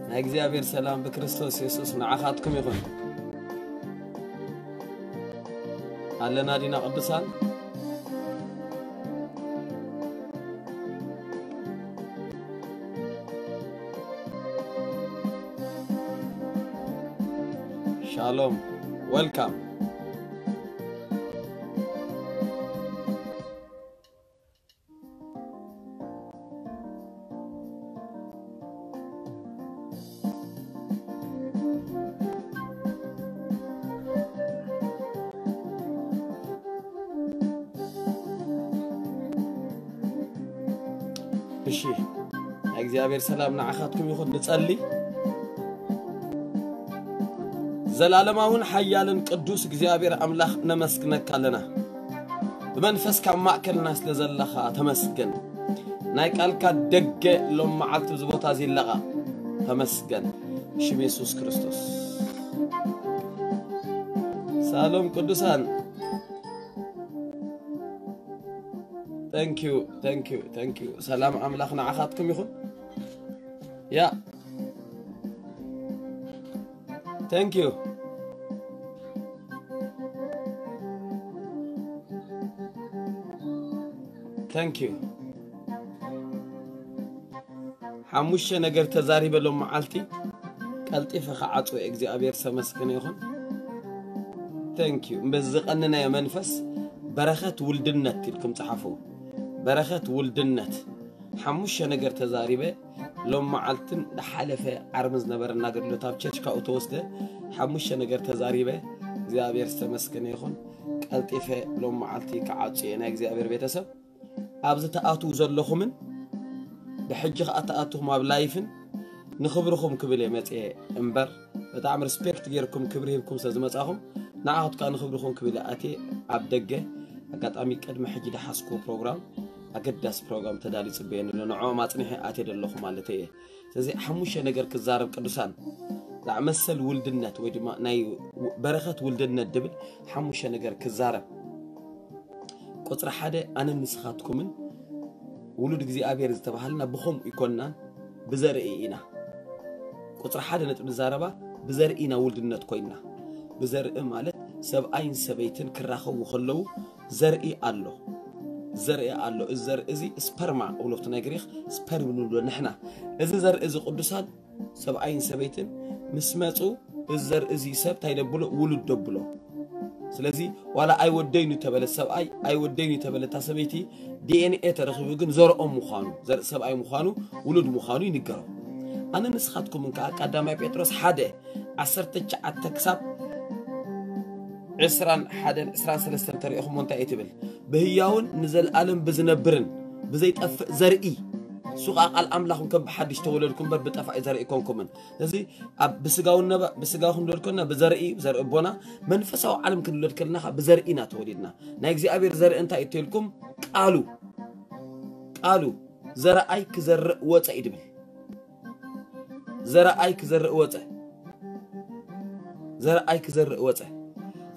ናይ እግዚኣብሔር ሰላም ብክርስቶስ የሱስ ንዓኻትኩም ይኹን። ኣለና ዲና ቅዱሳን? ሻሎም፣ ወልካም። እሺ፣ ናይ እግዚኣብሔር ሰላም ንዓኻትኩም ይኹን። ንጸሊ። ዘላለማውን ሓያልን ቅዱስ እግዚኣብሔር ኣምላኽ ነመስግነካ ኣለና። ብመንፈስካ ኣብ ማእከልና ስለ ዘለኻ ተመስገን። ናይ ቃልካ ደገ ሎም መዓልቲ ኣብዚ ቦታ እዚ ይለቓ። ተመስገን። ሽም የሱስ ክርስቶስ። ሳሎም ቅዱሳን። Thank you, thank you, thank you. ሰላም ኣምላኽ ንዓኻትኩም ይኹን። ያ። Thank you. Thank you. ሓሙሽተ ነገር ተዛሪበ ሎም መዓልቲ ቀልጢፈ ክዓጽዎ እግዚኣብሔር ዝተመስገነ ይኹን። Thank you። በዚ ዝቐነናዮ መንፈስ በረኸት ውልድነት ኢልኩም ጸሓፉ። በረኸት ውልድነት። ሓሙሽተ ነገር ተዛሪበ ሎም መዓልትን ዝሓለፈ ዓርቢ ዝነበረና ኣገልግሎት ኣብ ቸርች ካብኡ ተወስደ። ሓሙሽተ ነገር ተዛሪበ እግዚኣብሔር ዝተመስገነ ይኹን። ቀልጢፈ ሎም መዓልቲ ክዓጽዎ እየ ናይ እግዚኣብሔር ቤተሰብ። ኣብዚ ትኣትዉ ዘለኹምን ብሕጂ ከኣ ትኣትኹም ኣብ ላይፍን ንኽብርኹም ክብል እየ መጽየ እምበር፣ ብጣዕሚ ሪስፔክት ጌርኩም ክብሪ ሂብኩም ስለ ዝመጻኹም ንዓኹት ከኣ ንኽብርኹም ክብል እየ ኣትየ ኣብ ደገ። ኣጋጣሚ ቅድሚ ሕጂ ድሓዝኩዎ ፕሮግራም፣ ኣገዳሲ ፕሮግራም ተዳልዩ ጽበየኒ ኣሎ። ንዕኦም ኣጽኒሐ ኣትየ ዘለኹ ማለተይ እየ። ስለዚ ሓሙሽተ ነገር ክዛረብ ቅዱሳን፣ ዛዕ መሰል ውልድነት ወይ ድማ ናይ በረኸት ውልድነት ድብል ሓሙሽተ ነገር ክዛረብ። ቁጽሪ ሓደ ኣነን ንስኻትኩምን ውሉድ እግዚኣብሔር ዝተባሃልና ብኸምኡ ይኮንናን ብዘርኢ ኢና። ቁጽሪ ሓደ ነጥቢ ንዛረባ ብዘርኢ ኢና ውልድነት ኮይንና። ብዘርኢ ማለት ሰብኣይን ሰበይትን ክራኸቡ ከለዉ ዘርኢ ኣሎ። ዘርኢ ኣሎ። እዚ ዘርኢ እዚ ስፐርማ እብሎ ኣብቲ ናይ ግሪኽ ስፐርም ንብሎ ንሕና። እዚ ዘርኢ እዚ ቅዱሳን ሰብኣይን ሰበይትን ምስ መጹ እዚ ዘርኢ እዚ ሰብ እንታይ ደብሎ? ውሉድ ደብሎ። ስለዚ ዋላ ኣይወደይኑ ተበለ ሰብኣይ፣ ኣይወደይኑ ተበለታ ሰበይቲ፣ ዲ ኤን ኤ ተረኺቡ ግን ዘርኦም ምዃኑ፣ ዘርኢ ሰብኣይ ምዃኑ፣ ውሉድ ምዃኑ ይንገሮ። ኣነ ንስኻትኩምን ከኣ ቀዳማይ ጴጥሮስ ሓደ ዓሰርተ ትሽዓተ ክሳብ ዕስራን ሓደን ዕስራን ሰለስተን ተሪእኹሞ እንታይ እዩ ትብል? ብህያውን ንዘለኣለም ብዝነብርን ብዘይጠፍእ ዘርኢ፣ እሱ ኸኣ ቃል ኣምላኽ ከም ብሓድሽ ተወለድኩም እምበር ብጠፋኢ ዘርኢ ኣይኮንኩምን። እዚ ኣብ ብስጋዊ ነበ-፣ ብስጋዊ ክንብል ከለና ብዘርኢ፣ ብዘርኢ ኣቦና፣ መንፈሳዊ ዓለም ክንውለድ ከለና ኸኣ ብዘርኢ ኢና ተወሊድና። ናይ እግዚኣብሔር ዘርኢ እንታይ እዩ ተልኩም? ቃሉ፣ ቃሉ፣ "ዘረኣይ ክዘርእ ወጸ" እዩ ድብል። "ዘረኣይ ክዘርእ ወጸ። ዘረኣይ ክዘርእ ወጸ."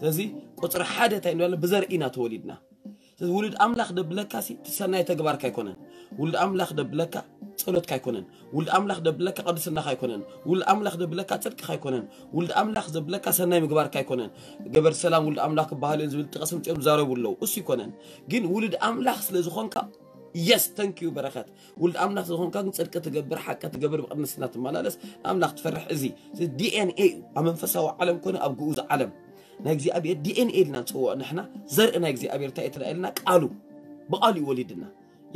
ስለዚ ቁጽሪ ሓደ እንታይ ንብላለ? ብዘርኢ ኢና ተወሊድና። ስለዚ ውሉድ ኣምላኽ ደብለካ ሲ፣ እቲ ሰናይ ተግባርካ ኣይኮነን። ውሉድ ኣምላኽ ደብለካ ጸሎትካ ኣይኮነን። ውሉድ ኣምላኽ ደብለካ ቅድስናኻ ኣይኮነን። ውሉድ ኣምላኽ ደብለካ ጽድቅኻ ኣይኮነን። ውሉድ ኣምላኽ ዘብለካ ሰናይ ምግባርካ ኣይኮነን። ገበር ሰላም ውሉድ ኣምላኽ ክበሃሉ እዮም ዝብል ጥቕሲ ምጽኦም ዝዛረቡ ኣለዉ። እሱ ኣይኮነን። ግን ውሉድ ኣምላኽ ስለ ዝኾንካ፣ የስ፣ ተንኪዩ በረኸት። ውሉድ ኣምላኽ ዝኾንካ ግን ጽድቂ ትገብር፣ ሓቂ ትገብር፣ ብቅድስና ትመላለስ፣ ንኣምላኽ ትፈርሕ። እዚ፣ እዚ ዲ ኤን ኤ እዩ። ኣብ መንፈሳዊ ዓለም ኮነ ኣብ ግኡዝ ዓለም ናይ እግዚኣብሔር ዲ ኤን ኤ ኢልና ንጽውዖ ንሕና። ዘርኢ ናይ እግዚኣብሔር እንታይ እዩ ኢልና? ቃሉ። ብቃሉ እዩ ወሊድና።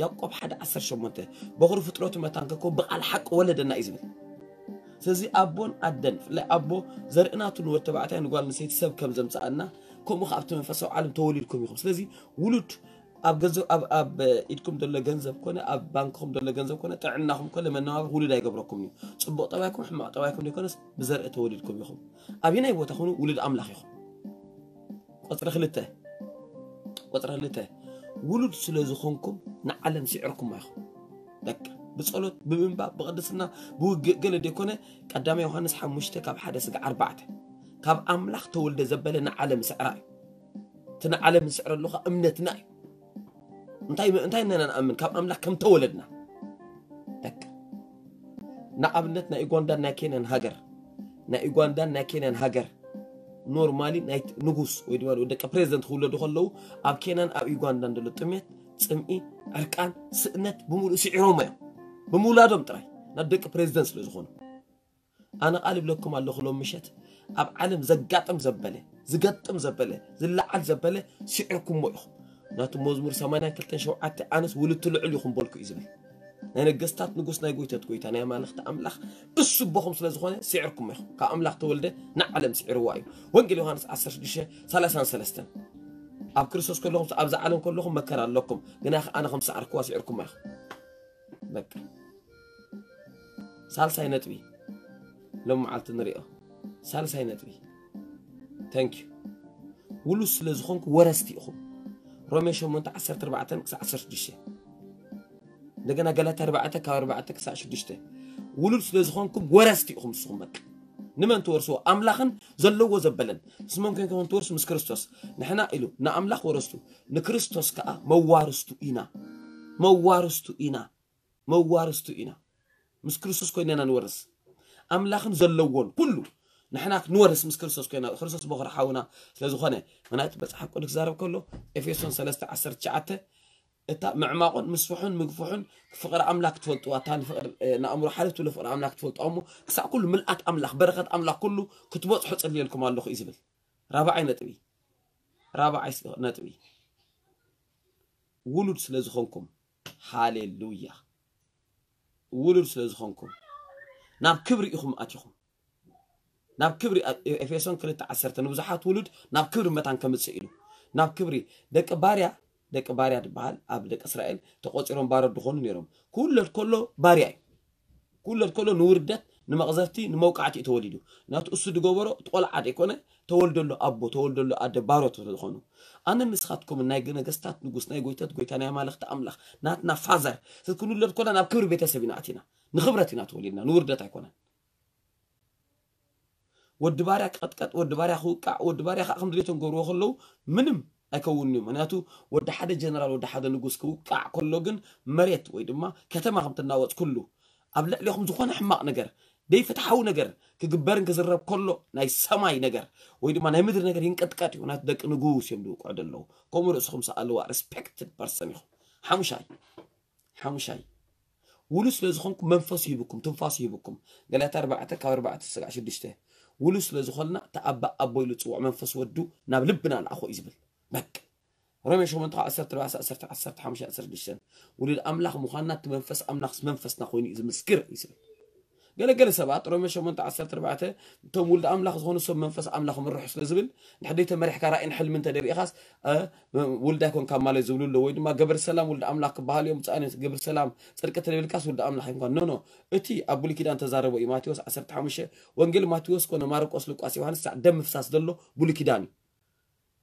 ያዕቆብ ሓደ ዓሰርተ ሸሞንተ፣ "በኹሪ ፍጥረቱ መታን ከኮ ብቃል ሓቂ ወለደና" እዩ ዝብል። ስለዚ ኣቦን ኣደን፣ ብፍላይ ኣቦ ዘርኢ ናቱ ንወዲ ተባዕታይ ንጓል ኣንስተይቲ ሰብ ከም ዘምጽኣና፣ ከምኡ ከኣ ኣብቲ መንፈሳዊ ዓለም ተወሊድኩም ኢኹም። ስለዚ ውሉድ ኣብ ገንዘብ፣ ኣብ፣ ኣብ ኢድኩም ዘሎ ገንዘብ ኮነ፣ ኣብ ባንክኹም ዘሎ ገንዘብ ኮነ፣ ጥዕናኹም ኮነ፣ መነባብሮ ውሉድ ኣይገብረኩም እዩ። ጽቡቕ ጠባይኩም፣ ሕማቕ ጠባይኩም ዘይኮነስ ብዘርኢ ተወሊድኩም ኢኹም። ኣበየናይ ቦታ ኹኑ ውሉድ ኣምላኽ ኢኹም። ቁጽሪ ክልተ፣ ቁጽሪ ክልተ፣ ውሉድ ስለ ዝኾንኩም ንዓለም ስዒርኩማ ኢኹም። በቃ፣ ብጸሎት፣ ብምንባብ፣ ብቅድስና፣ ብውግእ ገለ ዘይኮነ፣ ቀዳማይ ዮሃንስ ሓሙሽተ ካብ ሓደ ስጋዕ ኣርባዕተ፣ ካብ ኣምላኽ ተወልደ ዘበለ ንዓለም ስዕራ እዩ። እቲ ንዓለም ንስዕረሉ ኸኣ እምነትና እዩ። እንታይ፣ እንታይ ኢና ንኣምን? ካብ ኣምላኽ ከም ተወለድና። በቃ። ንኣብነት ናይ ኡጋንዳን ናይ ኬንያን ሃገር፣ ናይ ኡጋንዳን ናይ ኬንያን ሃገር ኖርማሊ ናይ ንጉስ ወይ ድማ ደቂ ፕሬዚደንት ክውለዱ ከለዉ ኣብ ኬንያን ኣብ ኡጋንዳን ዘሎ ጥሜት፣ ጽምኢ፣ ዕርቃን፣ ስእነት ብምሉእ ስዒሮም እዮም። ብምውላዶም ጥራይ ናብ ደቂ ፕሬዚደንት ስለ ዝኾኑ። ኣነ ቃል ይብለኩም ኣለኹ፣ ሎም ምሸት ኣብ ዓለም ዘጋጥም ዘበለ፣ ዝገጥም ዘበለ፣ ዝለዓል ዘበለ ስዒርኩሞ ኢኹም። ናቱ መዝሙር ሰማንያን ክልተን ሸውዓተ ኣነስ ውልቲ ልዑል ኢኹም በልኩ እዩ ዝብል። ናይ ነገስታት ንጉስ፣ ናይ ጎይታት ጎይታ፣ ናይ ኣማልኽቲ ኣምላኽ እሱ ኣቦኹም ስለ ዝኾነ ስዒርኩም ኢኹም። ካብ ኣምላኽ ተወልደ ንዓለም ስዒርዋ እዩ። ወንጌል ዮሃንስ ዓሰርተ ሽዱሽተ ሰላሳን ሰለስተን። ኣብ ክርስቶስ ከለኹም ኣብዛ ዓለም ከለኹም መከራ ኣለኩም፣ ግና ኣነ ከም ዝሰዓርኩዋ ስዒርኩማ ኢኹም። በቃ። ሳልሳይ ነጥቢ ሎም መዓልቲ ንሪኦ። ሳልሳይ ነጥቢ። Thank you። ውሉድ ስለ ዝኾንኩ ወረስቲ ኢኹም። ሮሜ ሸሞንተ ዓሰርተ ኣርባዕተ ክሳዕ ዓሰርተ ሽዱሽተ። እንደገና ገላትያ ኣርባዕተ ካብ ኣርባዕተ ክሳዕ ሽዱሽተ። ውሉድ ስለ ዝኾንኩም ወረስቲ ኢኹም ንስኹም። በቃ። ንመን ትወርስዎ? ኣምላኽን ዘለዎ ዘበለን። ምስ መን ኮይንኩም ትወርሱ? ምስ ክርስቶስ። ንሕና ኢሉ ንኣምላኽ ወረስቱ፣ ንክርስቶስ ከኣ መዋርስቱ ኢና። መዋርስቱ ኢና። መዋርስቱ ኢና። ምስ ክርስቶስ ኮይና ኢና ንወርስ። ኣምላኽን ዘለዎን ኩሉ ንሕና ክንወርስ ምስ ክርስቶስ ኮይና፣ ክርስቶስ በኹር ሓውና ስለ ዝኾነ። ምክንያቱ መጽሓፍ ቅዱስ ክዛረብ ከሎ፣ ኤፌሶን ሰለስተ ዓሰርተ ትሽዓተ፣ እታ ምዕማቑን ምስፍሑን ምግፍሑን ፍቕሪ ኣምላኽ ክትፈልጥዋ፣ እታ ንፍቕሪ፣ እ፣ ንኣእምሮ ሓልፍ ትብሎ ፍቕሪ ኣምላኽ ክትፈልጥዋ እሞ፣ ክሳዕ ኩሉ ምልኣት ኣምላኽ፣ በረኸት ኣምላኽ ኩሉ ክትበጽሑ ጽልየልኩም ኣለኹ እዩ ዝብል። ራብዓይ ነጥቢ። ራብዓይ ስ-፣ ነጥቢ። ውሉድ ስለ ዝኾንኩም፣ ሃሌሉያ። ውሉድ ስለ ዝኾንኩም፣ ናብ ክብሪ ኢኹም ኣቲኹም። ናብ ክብሪ፣ ኣ-፣ ኤፌሶን ክልተ ዓሰርተ፣ ንብዙሓት ውሉድ ናብ ክብሪ መታን ከምጽእ ኢሉ። ናብ ክብሪ፣ ደቂ ባርያ፣ ደቂ ባርያ ዝበሃል ኣብ ደቂ እስራኤል ተቖጺሮም ባሮት ዝኾኑ ነይሮም። ክውለድ ከሎ ባርያ እዩ። ክውለድ ከሎ ንውርደት፣ ንመቕዘፍቲ፣ ንመውቃዕቲ እዩ ተወሊዱ። ናቱ እሱ ዝገበሮ፣ እቲ ቆልዓ ዘይኮነ፣ ተወልደሉ ኣቦ፣ ተወልደሉ ኣደ ባሮት ዝኾኑ። ኣነ ንስኻትኩም ናይ ነገስታት ንጉስ፣ ናይ ጎይታት ጎይታ፣ ናይ ኣማልኽቲ ኣምላኽ፣ ናትና ፋዘር፣ ክንውለድ ከሎና ናብ ክብሪ ቤተሰብ ኢና ኣቲና። ንኽብረት ኢና ተወሊድና፣ ንውርደት ኣይኮነን። ወዲ ባርያ ክቐጥቀጥ፣ ወዲ ባርያ ክውቃዕ፣ ወዲ ባርያ ከዓ ከም ድሌቶም ክገብርዎ ከለዉ ምንም ኣይከውንን እዩ። ምክንያቱ ወዲ ሓደ ጀነራል፣ ወዲ ሓደ ንጉስ ክውቃዕ ከሎ ግን መሬት ወይ ድማ ከተማ ከም ትናወጽ ኩሉ ኣብ ልዕሌኹም ዝኾነ ሕማቕ ነገር፣ ደይፍትሓዊ ነገር ክግበርን ክዝረብ ከሎ ናይ ሰማይ ነገር ወይ ድማ ናይ ምድሪ ነገር ይንቀጥቀጥ እዩ። ምክንያቱ ደቂ ንጉስ እዮም ዝውቅዑ ዘለዉ። ከምኡ ርእስኹም ሰኣልዋ፣ ሪስፔክትድ ፐርሰን ኢኹም። ሓሙሻይ፣ ሓሙሻይ፣ ውሉድ ስለ ዝኾንኩም መንፈስ ይህብኩም፣ ትንፋስ ይህብኩም። ገላትያ ኣርባዕተ ካብ ኣርባዕተ ስጋዕ ሽዱሽተ። ውሉድ ስለ ዝኾንና እቲ ኣባ ኣቦ ኢሉ ዝጽውዕ መንፈስ ወዱ ናብ ልብና ለኣኾ እዩ ዝብል። በቃ። ሮሜ ሸሞንተ ዓሰርተ ኣርባዕተ ዓሰርተ ዓሰርተ ሓሙሽተ ዓሰርተ ሽዱሽተ። ውሉድ ኣምላኽ ምዃንና እቲ መንፈስ ኣምላኽ መንፈስና ኮይኑ እዩ ዝምስክር እዩ ዝብል። ገለገለ ሰባት ሮሜ ሸሞንተ ዓሰርተ ኣርባዕተ እቶም ውሉድ ኣምላኽ ዝኾኑ ሰብ መንፈስ ኣምላኽ ምርሑ ስለ ዝብል፣ ንሕደይ ተመሪሕካ ራእይን ሕልሚ እንተ ደሪእኻስ፣ እ፣ ውሉድ ኣይኮንካ ማለት ዝብሉ ኣለዉ። ወይ ድማ ገበር ሰላም ውሉድ ኣምላኽ ክበሃሉ እዮም፣ ብጻእን ገበር ሰላም ጽድቂ ተደቢልካስ ውሉድ ኣምላኽ ኣይኮንካ። ኖ፣ ኖ። እቲ ኣብ ብሉይ ኪዳን ተዛረቦ እዩ። ማቴዎስ ዓሰርተ ሓሙሽተ፣ ወንጌል ማቴዎስ ኮነ ማርቆስ፣ ሉቃስ፣ ዮሃንስ፣ ሳዕ ደም ምፍሳስ ዘሎ ብሉይ ኪዳን እዩ።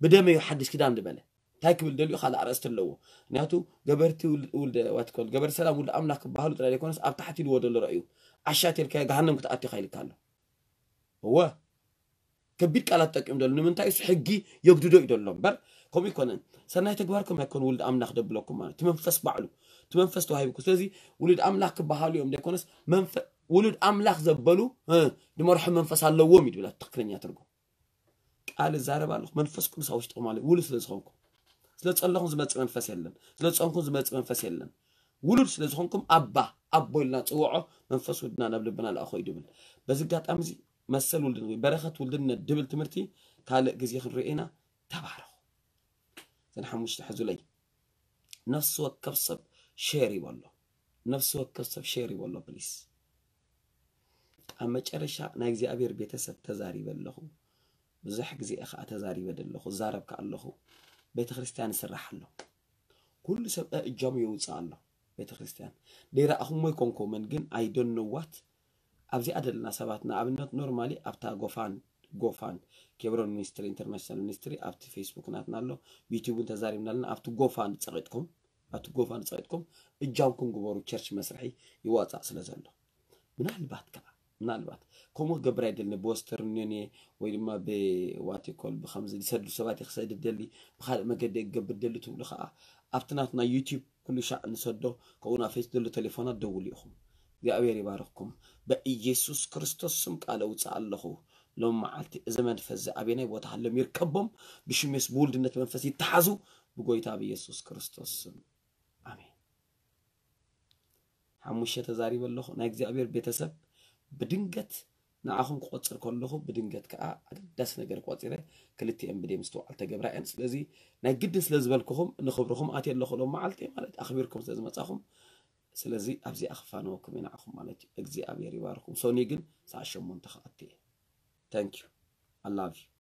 ብደመ እዩ ሓድሽ ኪዳን ዝበለ። እንታይ ክብል ደልዩ ካልእ ኣርእስቲ ኣለዎ። ምክንያቱ ገበርቲ ውል-፣ ውልደ፣ ዋትኮል፣ ገበር ሰላም ውልደ ኣምላኽ ክበሃሉ ጥራይ ዘይኮነስ ኣብ ታሕቲ ኢልዎ ዘሎ ረእዩ። ዓሻ ተልካዮ ገሃነም ክትኣቱ ኢኻ ኢልካ ኣሎ። እወ። ከቢድ ቃላት ጠቂም ደሎ። ንምንታይ እሱ ሕጊ የግድዶ እዩ ደሎ እምበር፣ ከምኡ ይኮነን። ሰናይ ተግባርኩም ኣይኮን ውልደ ኣምላኽ ደብለኩም ማለት። እቲ መንፈስ ባዕሉ። እቲ መንፈስ ተዋሂብኩ። ስለዚ ውሉድ ኣምላኽ ክበሃሉ እዮም ዘይኮነስ፣ መንፈ-፣ ውሉድ ኣምላኽ ዘበሉ፣ እ፣ ዝመርሑ መንፈስ ኣለዎም እዩ ድብላ ትኽክለኛ ትርጉም። ቃል እዛረብ ኣለኹ። መንፈስ ቅዱስ ኣብ ውሽጥኹም ኣሎ። ውሉድ ስለ ዝኾንኩም። ስለ ጸለኹም ዝመጽእ መንፈስ የለን። ስለ ጾምኩም ዝመጽእ መንፈስ የለን። ውሉድ ስለ ዝኾንኩም ኣባ፣ ኣቦ ኢልና ጽውዖ፣ መንፈስ ውድና ናብ ልብና ልኣኾ እዩ ድብል። በዚ ኣጋጣሚ እዚ መሰል ውልድን ወይ በረኸት ውልድነት ድብል ትምህርቲ ካልእ ግዜ ክንርኢ ኢና። ተባረኹ። እዘን ሓሙሽተ ሕዙለይ። ነፍሲ ወከፍ ሰብ ሼር ይበሎ። ነፍሲ ወከፍ ሰብ ሼር ይበሎ ፕሊስ። ኣብ መጨረሻ ናይ እግዚኣብሔር ቤተሰብ ተዛሪበ ኣለኹ። ብዙሕ ግዜ ኸዓ ተዛሪበ ዘለኹ፣ እዛረብ ከኣ ኣለኹ። ቤተ ክርስቲያን ይስራሕ ኣሎ። ኩሉ ሰብ እጃሙ የውፅእ ኣሎ። ቤተ ክርስቲያን ደይረኣኹሞ ይኮንኩምን፣ ግን I don't know what ኣብዚኣ ዘለና ሰባት፣ ንኣብነት ኖርማሊ ኣብታ ጎፋን፣ ጎፋን ኬብሮን ሚኒስትሪ ኢንተርናሽናል ሚኒስትሪ ኣብቲ ፌስቡክ ናትና ኣሎ፣ ዩቲዩብ እውን ተዛሪብና ኣለና። ኣብቲ ጎፋን ጸቂጥኩም፣ ኣብቲ ጎፋን ጸቂጥኩም እጃምኩም ግበሩ፣ ቸርች መስርሒ ይዋጻእ ስለ ዘሎ። ምናልባት ከኣ፣ ምናልባት ከምኡ ክገብር ኣይደልን፣ ብወስተርን ዩኒየን ወይ ድማ ብዋቲኮል ብኸምዚ ዝሰዱ ሰባት እየ ክሰድድ ደሊ፣ ብኻልእ መገዲ እየ ክገብር ደሊ ትብሉ ከኣ ኣብቲ ናትና ዩቲዩብ ኩሉ ሻዕ ንሰዶ፣ ከምኡ ናብ ፌስ ዘሎ ቴሌፎናት ደውሉ ኢኹም። እግዚኣብሔር ይባርክኩም። በኢየሱስ ክርስቶስ ስም ቃል እውፅእ ኣለኹ። ሎም መዓልቲ እዚ መንፈስ እዚ ኣበየናይ ቦታ ሃሎም ይርከቦም። ብሽሜስ ብውልድነት መንፈስ ይተሓዙ። ብጎይታ ብኢየሱስ ክርስቶስ ስም ኣሜን። ሓሙሽተ ተዛሪበ ኣለኹ። ናይ እግዚኣብሔር ቤተሰብ ብድንገት ንዓኹም ክቆፅር ከለኹ ብድንገት ከዓ ኣገዳሲ ነገር ቆፂረ። ክልቲኤን ብደይ ምስትውዓል ተገብራ እየን። ስለዚ ናይ ግድን ስለ ዝበልኩኹም ንኽብርኹም ኣትየ ኣለኹ። ሎም መዓልቲ ማለት ኣኽቢርኩም ስለ ዝመፃኹም ስለዚ ኣብዚኣ ክፋነወኩም እየ ንዓኹም ማለት እዩ። እግዚኣብሔር ይባርኩም። ሶኒ ግን ሰዓት ሸሞንተ ክኣቲ እየ። Thank you. I love you.